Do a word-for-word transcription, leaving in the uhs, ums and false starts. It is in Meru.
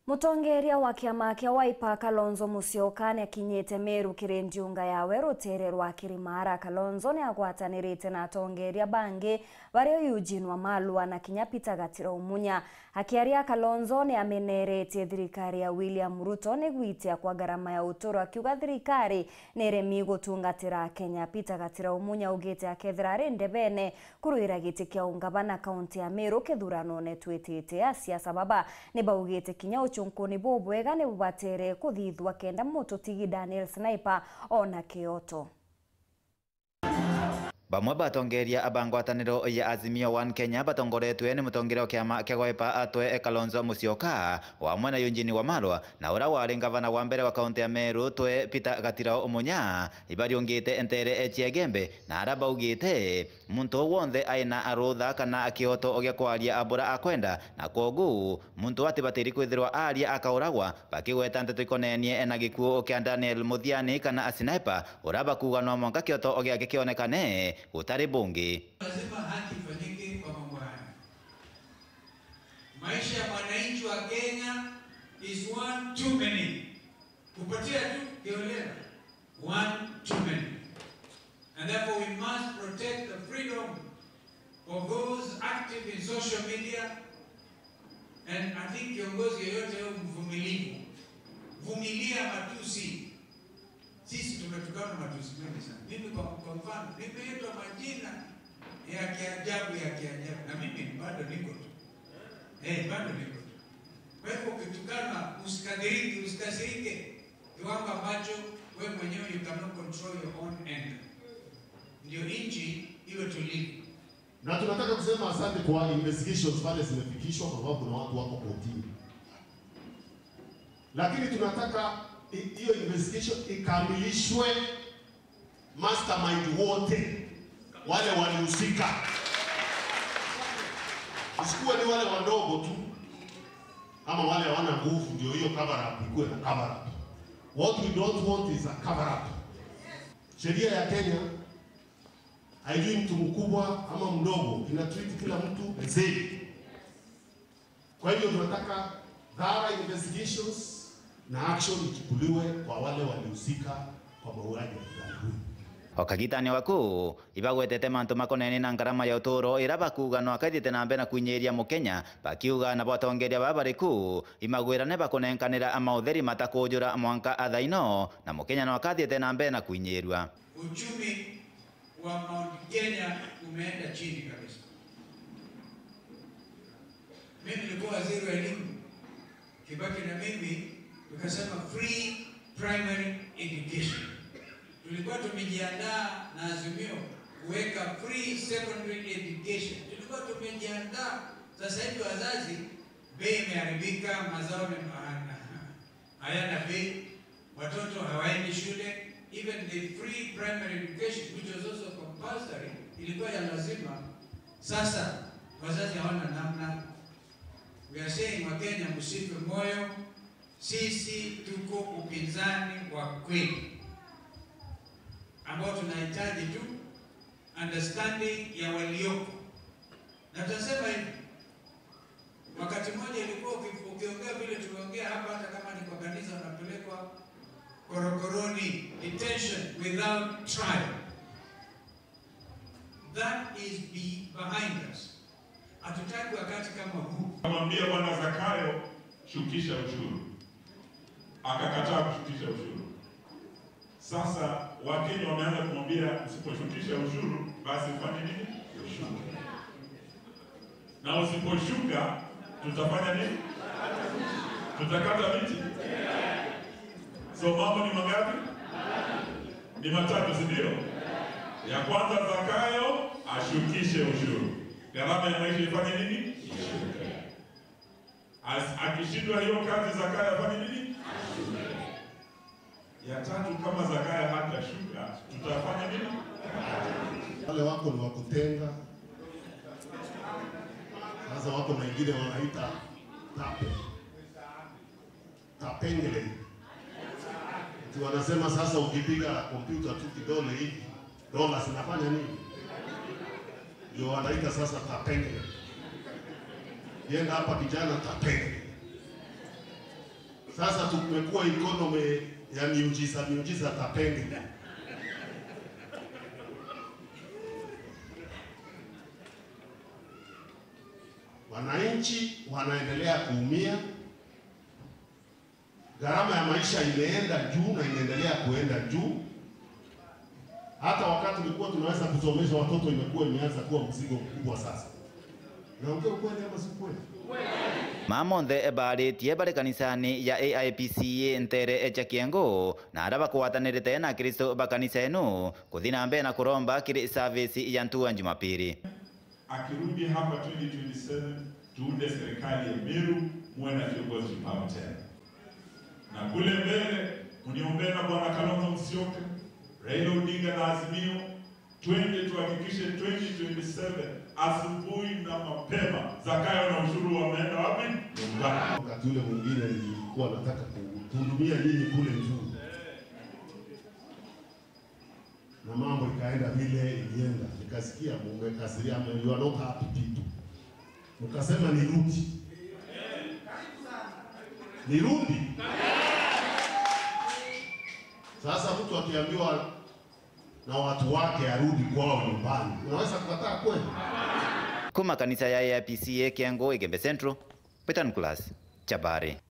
Mutongeria wa kiama kia Wiper, Kalonzo Musyoka, niakinyite Meru kiri ndiunga yawe rutere rwa Kirimara. Kalonzo niagwatanirite na atongeria bangi, bario Eugene Wamalwa na kinya Peter Gatira Umunya. Akiaria, Kalonzo niameneretie thirikari ya William Ruto ni gwitia kwa ngarama ya uturo, akiuga thirikari niremi gutungatira Akenya. Peter Gatira Umunya augite akethira ari ndebene kurwira giti kia ungavana kaunti ya Meru kithuranone twitite, asiasa baba ni baugite kinya uchunkuni bubwega ni bubatere kuthithua kenda mututigi Daniel Sniper ona kioto. Bamwe batongeria ba ngwataniro ya Azimio One Kenya batongoretwe ni mutongeria wa kiama kia Wiper atwe Kalonzo Musyoka, wamwe na Eugene Wamalwa, na uria wari ngavana wa mbere wa kaunti ya Meru twe Peter Gatira Umunya, ibariungite ntere cia Igembe, na aria baugite muntu o wonthe aina rutha kana kioto gia kwaria bura akwenda, na kwogu muntu atibatiri kwithirwa aria akauragwa, bakigweta nteto ikonenie na gikuu kia Daniel Muthiani kana Sniper, uria bakuuga no mwanka kioto giake kionekane gutari bungi. Lazima haki ifanyike kwa mambo haya. Maisha ya mwananchi wa Kenya is one too many. Kupotea tu kiholela, one too many. And therefore we must protect the freedom of those active in social media. And I think kiongozi yeyote awe mvumilivu. Vumilia matusi. Sisi tumetukanwa matusi mengi sana. Mimi kwa, kwa mfano, nimeitwa majina ya kiajabu, ya kiajabu. Na mimi bado niko tu. Eh, bado niko tu. Kwa hivyo ukitukana, usikasirike, usikasirike. Kiwango ambacho wewe mwenyewe you cannot control your own anger. Ndio nchi iwe tulivu. Na tunataka kusema asante kwa investigations pale zimefikishwa, kwa sababu kuna watu wako kotini. Lakini tunataka i-, hiyo investigation ikamilishwe, mastermind wote wale walihusika. Isikuwe ni wale wadogo tu, ama wale hawana nguvu, ndio hiyo cover up ikuwe na cover up. What we don't want is a cover up. Sheria ya Kenya haijui mtu mkubwa ama mdogo, ina treat kila mtu the same. Kwa hivyo tunataka thorough investigations na action ichukuliwe kwa wale walihusika kwa mauaji ya kijana huyu. O kagitani waku, ibagwetete mantu makonene na ngarama ya uturo ira bakuuga no akaithiite na mbere na kwinyiria Mukenya, bakiuga nabo atongeria baba bariku imagwirane bakunenkanira amautheri matakujura mwanka athaino, na Mukenya no akathiite na mbere na kwinyirua. Uchumi wa Mount Kenya umeenda chini kabisa. Mimi nilikuwa waziri wa elimu, Kibaki na mimi tukasema free primary education. Tulikuwa tumejiandaa na Azimio kuweka free secondary education. Tulikuwa tumejiandaa. Sasa hivi wazazi, bei imeharibika, mazao ni ma-, hayana bei, watoto hawaendi shule, even the free primary education, which was also compulsory, ilikuwa ya lazima. Sasa wazazi hawana namna. We are saying, Wakenya, msife moyo, sisi tuko upinzani wa kweli, ambao tunahitaji tu understanding ya walioko. Na tunasema hivi, wakati mmoja ilikuwa uki-, ukiongea vile tumeongea hapa, hata kama ni kwa kanisa, unapelekwa korokoroni, detention without trial. That is be-, behind us. Hatutaki wakati kama huu. Kamwambia Bwana Zakayo, "Shukisha ushuru." Akakataa kushukisha ushuru. Sasa Wakenya wameanza kumwambia, "Usiposhukisha ushuru, basi ufanye nini? Ushuke." Na usiposhuka, tutafanya nini? Tutakata miti. So mambo ni mangapi? Ni matatu, si ndio? Ya kwanza, Zakayo ashukishe ushuru. Gharama ya maisha ifanye nini? Ishuke. As-, akishindwa hiyo kazi, Zakayo afanye nini? Ya tatu, kama Zakayo hatashuka, tutafanya nini? Wale wako ni wa kutenga. Sasa wako na ingine wanaita tape. Tapengele. Ati wanasema sasa ukipiga kompyuta tu kidole hivi, dola zinafanya nini? Ndio wanaita sasa tapengele. Yenda hapa kijana tapengele. Sasa tumekuwa economy ya miujiza, miujiza tapenge. Wananchi wanaendelea kuumia. Gharama ya maisha imeenda juu na inaendelea kuenda juu. Hata wakati tulikuwa tunaweza kusomesha watoto, imekuwa imeanza kuwa mzigo mkubwa sasa. Naongea ukweli ama si kweli? Mama monthe baaritie bari kanisani ya A I P C A nteere cia Kiengo, na aria bakwatanirite na Akristo ba kanisa enu kuthi na mbere na kuromba kiri service ya ntuku ya Jumapili. Akirudi hapa twenty twenty-seven, tuunde serikali ya Meru, muwe na kiongozi shupavu tena. Na kule mbele, mniombee na Bwana Kalonzo Musyoka, Raila Odinga na Azimio, twende tuhakikishe twenty twenty-seven, asubuhi na mapema, Zakayo na Ushuru wameenda wapi? Nyumbani. Wakati ule mwingine nilikuwa nataka kuhudumia nyinyi kule juu. Na mambo ikaenda vile ilienda. Nikasikia mumekasirikia, you are not happy people. Mkasema nirudi. Nirudi. Sasa mtu akiambiwa na watu wake arudi kwao nyumbani, unaweza kukataa kweli? Kuma kanisa ya A I P C A Kiengo, Igembe Central, Peter Nicholas Chabari.